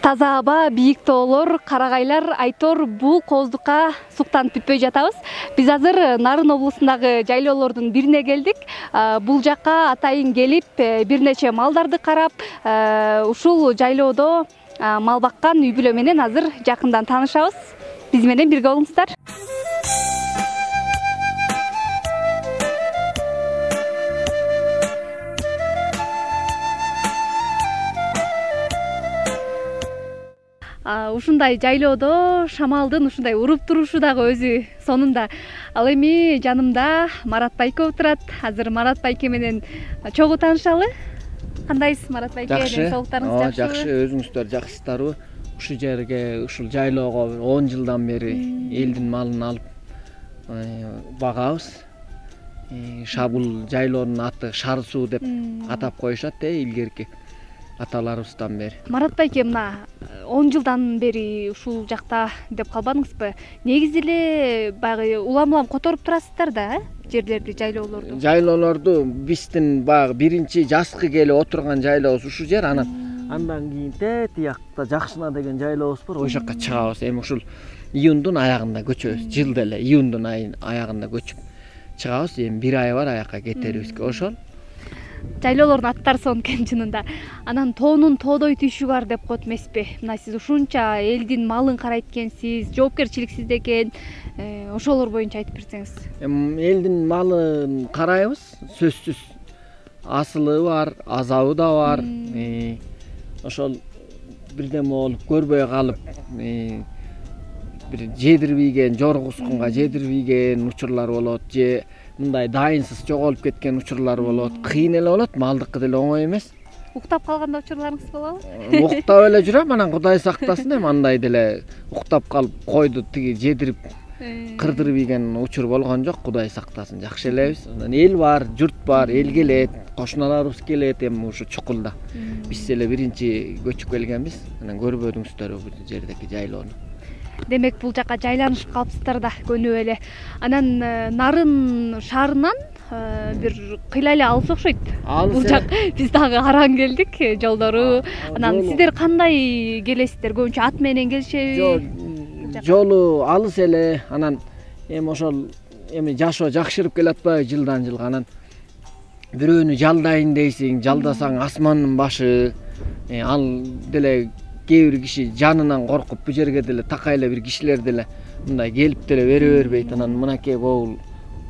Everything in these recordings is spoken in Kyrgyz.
Таза аба, бийик тоолор, карагайлар, айтор бул кооздукка суктанып бүтпөй жатабыз. Биз азыр Нарын облусундагы жайлоолордун бирине келдик. Бул жакка атайын келип, бир нече малдарды карап, ушул жайлоодо мал баккан үй бүлө менен азыр жакындан таанышабыз. Биз менен бирге болуңуздар. Ушундай жайлоодо шамалдын ушундай уруп турушу дагы өзү сонунда. Ал эми жанымда Марат байке отурат. Азыр Марат байке менен чогуу таанышалы. Кандайсыз, Марат байке? Соолуктарыңыз жакшыбы? Жакшы, өзүңүздөр жакшысыздарбы? Ушул жерге, ушул жайлоого 10 жылдан бери элдин малын алып багабыз. Шабул жайлоонун аты Шар суу деп атап коюшат, илгерки аталарыбыздан бери. Марат байке, мына 10 жылдан бери ушул жакта деп калбадыңызбы? Негизи эле баягы улам-улам которуп турасыздар да, жерлерди, жайлоолорду. Жайлоолорду биздин баягы биринчи жазкы келип отурган жайлообуз ушул жер, андан кийин тиякта Жакшына деген жайлообуз бар, ошол жакка чыгабыз. Эми ушул июндун аягында көчөбүз. Жылда эле июндун аягында көчүп чыгабыз. Эми бир ай бар аякка кетерибизге. Ошол жайлоолордун аттары сонун экен чынында. Анан тоонун тоодой түйшү бар деп коет эмеспи? Мына сиз ушунча элдин малын карайт экенсиз, жоопкерчиликсиз экен. Ошолор боюнча айтып берсеңиз. Элдин малын карайбыз, сөзсүз. Асылы бар, азабы да бар. Ошол бирдеме болуп көрбөй калып, бир жедирбейген, жорго ускунга жедирбейген учурлар болот, же мындай дайынсыз жоголуп кеткен учурлар болот. Кыйын эле болот, малдыкы деле оңой эмес. Уктап калганда учурларыңыз болобу? Уктап эле жүрөм, анан Кудай сактасын, эми андай деле уктап калып койду тиги жедирип кырдырбайген учур болгон жок, Кудай сактасын. Жакшы элебиз. Анан эл бар, журт бар, эл келет, кошуналарыбыз келет, эми ушу чукулда. Биз эле биринчи көчүп келгенбиз. Анан көрбөдүңүздөрбү бул жердеги жайлоону. Демек бул жака жайланышып калыпсыздар да көнүп эле. Анан Нарын шаарынан бир кыйла эле алыс окшойт. Бул жак биз дагы араң келдик, жолдору. Анан сиздер кандай келесиздер? Көбүнчө ат менен келишеби? Жок, жолу алыс эле. Анан эми ошол жашоо жакшырып келатпайбы жылдан жылга. Анан бирөөнү жалдайын дейсиң, жалдасаң асмандын башы. Ал деле кээ бир киши жанынан коркуп бу жерге деле такай эле бир кишилер деле мындай келип деле бере бербейт. Анан мынакей могул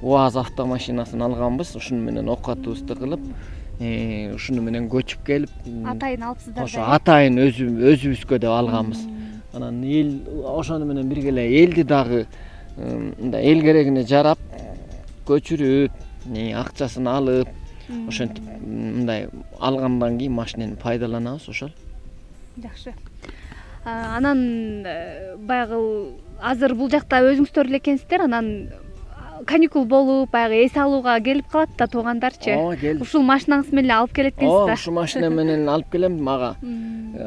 УАЗ автомашинасын алганбыз. Ушуну менен окатыбызды кылып, ушуну менен көчүп келип, атайын алыпсыздар. Ошо атайын өзүбүзгө деп алганбыз. Анан эл ошону менен бирге эле элди дагы мындай эл керегине жарап, көчүрүп, акчасын алып, ошентип мындай алгандан кийин машинени пайдаланабыз. Ошол жакшы. Анан баягы азыр бул жакта өзүңүздөр эле экенсиздер, анан каникул болуп, баягы эс алууга келип калат да туугандарчы. Ушул машинаңыз менен алып келет экенсиз да? Ушул машина менен алып келем. Мага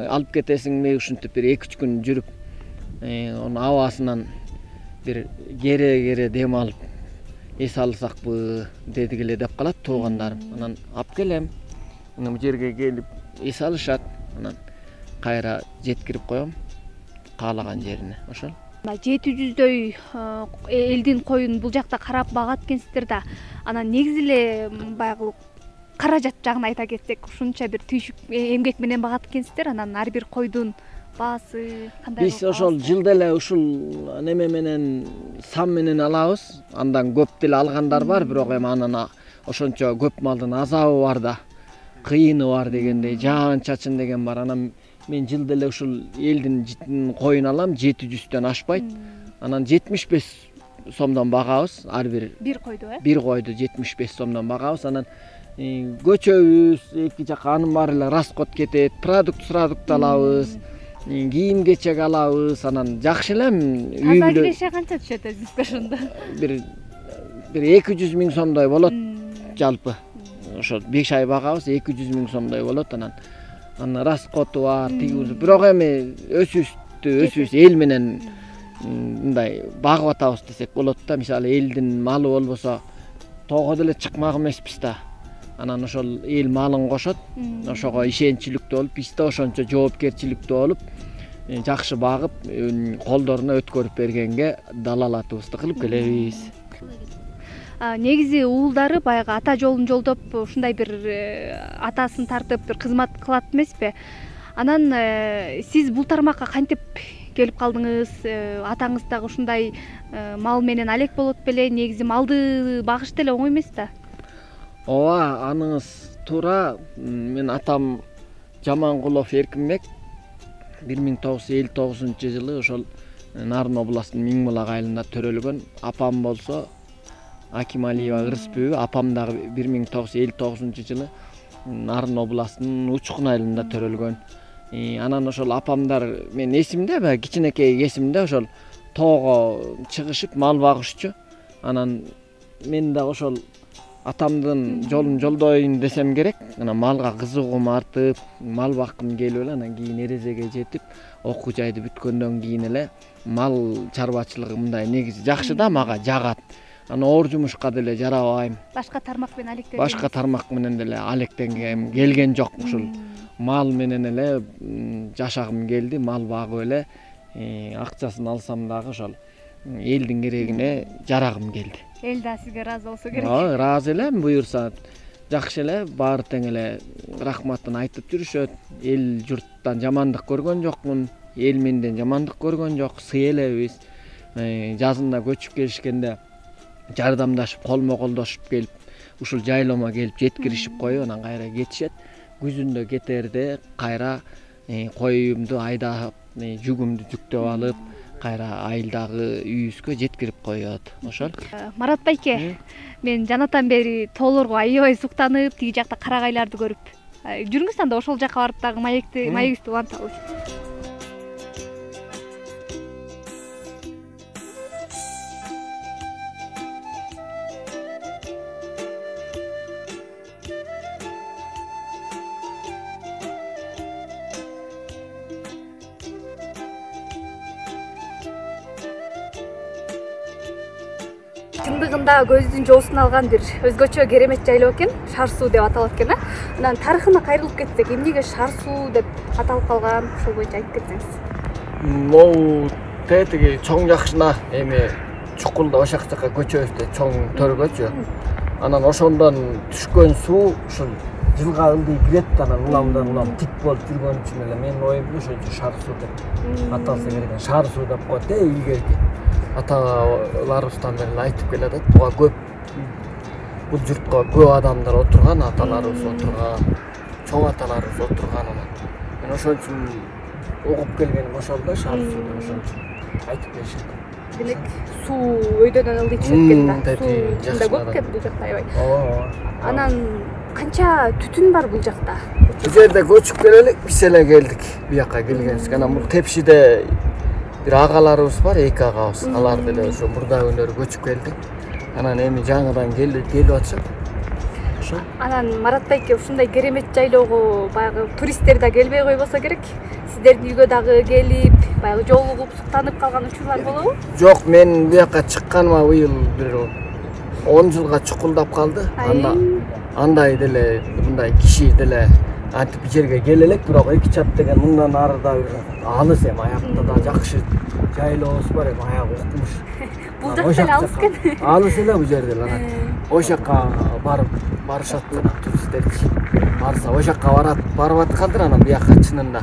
алып кетесиңби, ушинтип бир 2-3 күн жүрүп, онун абасынан бир кере дем алып эс алсакпы дедигиле деп калат туугандарым. Анан алып келем. Бул жерге келип эс алышат. Анан кайра жеткирип коем каалаган жерине. Ошол 700дөй элдин коюн бул жакта карап багат экенсиздер да. Анан негизи эле баягы каражат жагын айта кетсек, ушунча бир түйшүк эмгек менен багат экенсиздер. Анан ар бир койдун баасы кандай? Биз ошол жылда эле ушул неме менен сам менен алабыз. Андан көп деле алгандар бар, бирок эми анан ошончо көп малдын азабы бар да, кыйыны бар дегендей, жаан чачын деген бар. Анан мен жылда эле ушул элдин коюн алам, 700дөн ашпайт. Анан 75 сомдон багабыз ар бир койду, бир койду 75 сомдон багабыз. Анан көчөбүз, эки жака анын баары эле расход кетет, продукт алабыз, кийим кечек алабыз. Анан жакшы эле үй таза киреше канча түшөт өзүңүзгө ошондо? Бир 200 000 сомдой болот жалпы. Ошо 5 ай багабыз, 200 000 сомдой болот. Анан расходу бар, бирок эми өсүбүз эл менен мындай багып атабыз десек болот да. Мисалы элдин малы болбосо тоого деле чыкмак эмеспиз да. Анан ошол эл малын кошот. Ошого ишеничиликтүү болуп, биз да ошончо жоопкерчиликтүү болуп, жакшы багып колдоруна өткөрүп бергенге далалатыбызды кылып келебиз. Негизи уулдары баягы ата жолун жолдоп ушундай бир атасын тартып бир кызмат кылат эмеспи? Анан сиз бул тармакка кантип келип калдыңыз? Атаңыз дагы ушундай мал менен алек болот беле? Негизи малды багыш деле оңой эмес да. Ооба, аныңыз туура. Мен атам Жамангулов Эркинбек 1959-жылы ошол Нарын областынын Миңбулак айылында төрөлгөн. Апам болсо Акималиева Ырысбүбү, апам дагы 1959-жылы Нарын областынын Учкун айылында төрөлгөн. Анан ошол апамдар мен эсимде, баягы кичинекей эсимде ошол тоого чыгышып мал багышчу. Анан мен да ошол атамдын жолун жолдойн десем керек. Анан малга кызыгуум артып, мал баккым келип эле, анан кийин эрезеге жетип, окуу жайды бүткөндөн кийин эле мал чарбачылыгы мындай негизи жакшы да, мага жагат. Анан оор жумушка деле жарабайм. Башка тармак менен алектенгем. Башка тармак менен деле алектенгем келген жок. Ушул мал менен эле жашагым келди. Мал багып эле акчасын алсам дагы ошол элдин керегине жарагым келди. Эл да сизге ыраазы болсо керек. Ооба, ыраазы элем. Буюрса жакшы эле, баары тең эле рахматын айтып жүрүшөт. Эл журттан жамандык көргөн жокмун. Эл менден жамандык көргөн жок. Сый элебиз. Жазында көчүп келишкенде жардамдашып, колмо-колдошуп келип, ушул жайлоомо келип жеткиришип коюп, анан кайра кетишет. Күзүндө кетерде кайра коюмду айдап, жүгүмдү жүктөп алып, кайра айылдагы үйүбүзгө жеткирип коет. Ошол. Марат байке, мен жанатан бери тоолорго аябай суктанып, тиги жакта карагайларды көрүп жүрүңүз, анда ошол жака барып дагы маегибизди уланталы. Чындыгында көздүн жоосун алган бир өзгөчө керемет жайлоо экен, Шар суу деп аталат экен. Анан тарыхына кайрылып кетсек, эмнеге Шар суу деп аталып калган, ошол боюнча айтып кетсеңиз. Могу тетиги чоң жакшына эми чукулда ошак жака көчөбүздө чоң төргөчү. Анан ошондон түшкөн суу ушул жылга ылдый кирет, анан улам тик болуп жүргөн үчүн эле менин оюмда ошончо Шар суу деп аталса керек. Шар суу деп коет илгерки аталарыбыздан бери айтып келатат. Буга көп бул журтка көп адамдар отурган, аталарыбыз отурган, чоң аталарыбыз отурган. Мен ошон үчүн угуп келгеним ошол да, Шар суу деп ошон үчүн айтып келишет. Демек суу өйдөнөн ылдый түшөт экен да. Суу чында көп экен бул жакта аябай. Ооба. Анан канча түтүн бар бул жакта? Бул жерде көчүп келелик, биз эле келдик. Бияка келгенбиз. Анан бул Тепшиде бир агаларыбыз бар, 2 агабыз. Алар деле ошо мурда күндөр көчүп келди. Анан эми жаңыдан келип атышат. Ошо. Анан Марат байке, ушундай керемет жайлоого баягы туристтер да келбей койбосо керек. Сиздердин үйгө дагы келип, баягы жолугуп, суктанып калган учурлар болобу? Жок, мен буяка чыкканыма быйыл бир 10 жылга чукулдап калды. Андай деле мындай киши деле антип жерге келе элек, бирок 2 чап деген мындан арыда бир алыс эми, аякта да жакшы жайлообуз бар эми, аяк укмуш. Бул жак деле алыс экен. Алыс эле бул жерде анан. Ошол жака барышат туристтерчи. Барса ошол жака барып аткандыр, анан буяка чынында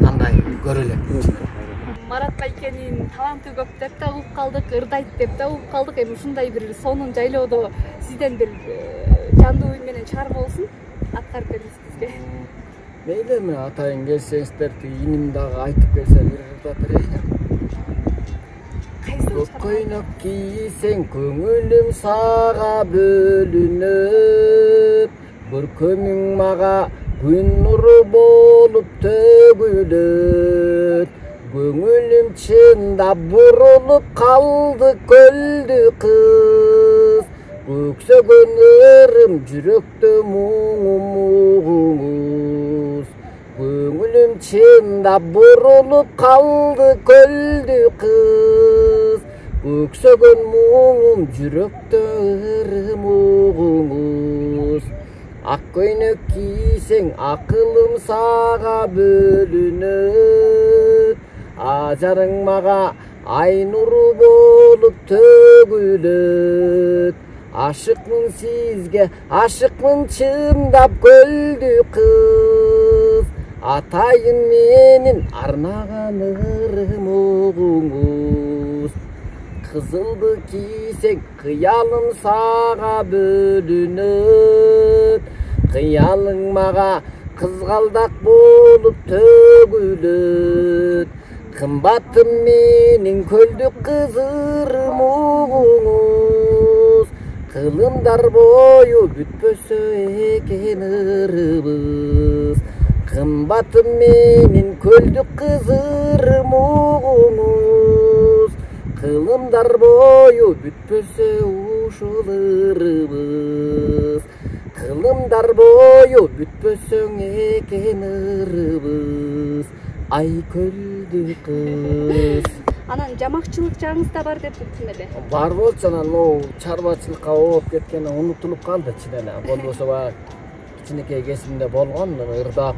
андай көрө элек. Марат байкенин таланты көп деп да угуп калдык, ырдайт деп да угуп калдык. Эми ушундай бир сонун жайлоодо сизден бир жандуу үн менен чыгарма болсун, аткарып бериңиз бизге. Мейли, эми атайын келсеңиздер, иним дагы айтып келсе бир ырдап берейин. Көк көйнөк кийсең көңүлүм сага бөлүнөп, көркөмүң мага күн нуру болуп төгүлөт. Көңүлүм чындап бурулуп калды көлдү кыз, көксөгөн ырым жүрөктө муңумуз. Көңүлүм чындап бурулуп калды көлдү кыз, көксөгөн муңум жүрөктө ырымуңуз. Ак көйнөк кийсең акылым сага бөлүнөт, жарың мага ай нуру болуп төгүлөт. Ашыкмын сизге, ашыкмын чындап көлдү кыз. Атайын менин арнаган ырым угуңуз. Кызылды кийсең кыялым сага бөлүнөт. Кыялың мага кызгалдак болуп төгүлөт. Кымбатым менин көлдүк кыз ырым угуңуз. Кылымдар бою бүтпөсө экен ырыбыз. Кымбатым менин көлдүк кыз ырым угуңуз. Кылымдар бою бүтпөсө ушул ырыбыз. Кылымдар бою бүтпөсөң экен ырыбыз. Ай көлдү кыз. Анан жамакчылык жагыңыз да бар деп уктум эле. Бар болчу, анан могу чарбачылыкка ооп кеткен унутулуп калды чынеле. Болбосо баягы кичинекей кезимде болгон, ырдап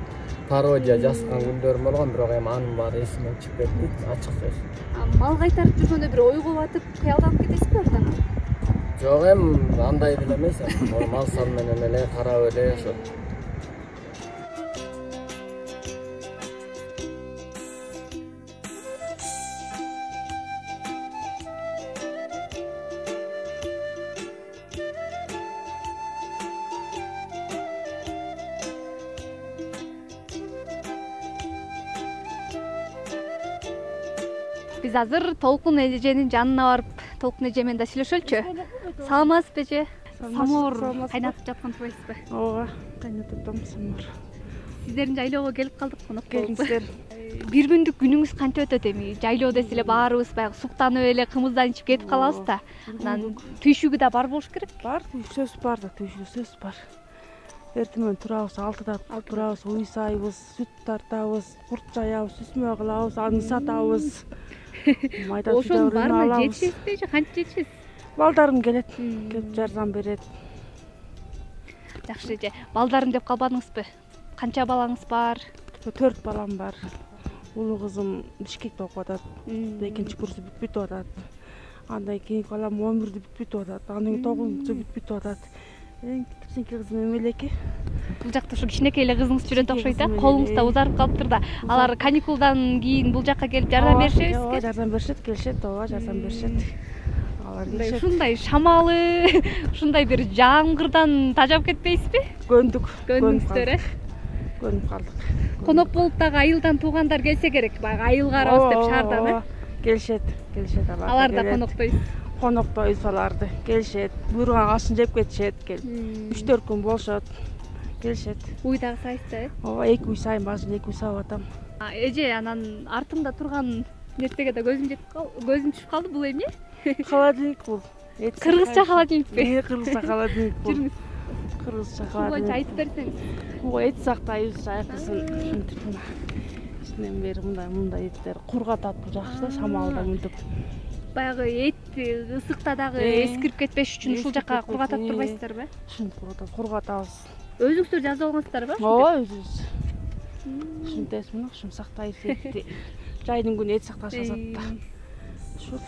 пародия жазган күндөрүм болгон, бирок эми анын баары эсимден чыгып кетти, ачык сөз. Мал кайтарып жүргөндө бир ойго батып, кыялданып кетесизби ордон? Жок, эми андай деле эмес. Мал сан менен эле карап эле ошо. Биз азыр Толкун эженин жанына барып, Толкун эже менен да сүйлөшөлүчү. Саламатсызбы эже? Самоор кайнатып жаткан турбайсызбы? Ооба, кайнатып атам самоор. Сиздердин жайлоого келип калдык, конок болуп. Келиңиздер. Бир күндүк күнүңүз канча өтөт эми? Жайлоо десе эле баарыбыз баягы суктанып эле кымыздан ичип кетип калабыз да. Анан түйшүгү да бар болуш керек. Бар, сөз бар да, сөз бар. Эртең турабыз, 6-да турабыз, уй сайбыз, сүт тартабыз, курт жаябыз, сүзмө кылабыз, аны сатабыз. Ошонун баарына жетишесизби же канча жетишесиз? Балдарым келет, келип жардам берет. Жакшы эже. Балдарым деп калбадыңызбы? Канча балаңыз бар? 4 балам бар. Улуу кызым Бишкекте окуп атат. Экинчи курсу бүтүп атат. Андан кийинки балам 11-дө бүтүп атат. Андан кийин 9-курсу бүтүп атат. Эң кичинекей кызым Эмелеке. Бул жакта ошо кичинекей эле кызыңыз жүрөт окшойт да. Колуңуз да узарып калыптыр да. Алар каникулдан кийин бул жакка келип жардам беришебизби? Ооба, жардам беришет, келишет, ооба, жардам беришет. Алар келишет. Ушундай шамалы, ушундай бир жамгырдан тажап кетпейсизби? Көндүңүздөр, Көнүп калдык. Конок болуп дагы айылдан туугандар келсе керек, баягы айылга барабыз деп шаардан, Келишет алар. Алар да коноктойсуз. Коноктойбуз аларды. Келишет, буйруган ашын жеп кетишет, келип. 3-4 күн болушот. Келишет. Уй дагы сайсызбы? Ооба, 2 уй сайын башын 2 уй саап атам. Эже, анан артымда турган нерсеге да көзүм түшүп калды, бул эмне? Холодильник бул. Кыргызча холодильникпи? Кыргызча холодильник бул. Жүрүңүз. Кыргызча Бул боюнча холодильник. айтып берсеңиз. Эт сактайбыз, жайкысын ушинтип мына. Ичинен бери мындай эттер кургатат, бул жакшы да, шамалда мынтип. Баягы эт ысыкта дагы эскирип кетпеш үчүн ушул жакка кургатып турбайсыздарбы? Ушинтип кургатабыз. Өзүңүздөр жазып алгансыздарбы? Ооба, өзүбүз. Ушинтебиз мына, ушун сактайбыз этти. Жайдын күнү эт сакташат да. Ушул.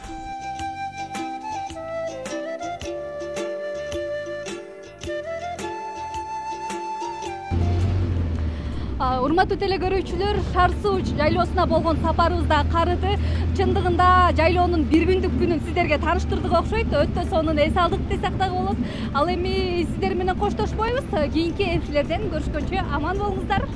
Урматтуу теле көрүүчүлөр, Шаар Суу жайлоосуна болгон сапарыбыз да карыды. Чындыгында жайлоонун бир күндүк күнүн сиздерге тааныштырдык окшойт. Өтө сонун эс алдык десек дагы болот. Ал эми сиздер менен коштошпойбуз. Кийинки эфирлерден көрүшкөнчө аман болуңуздар.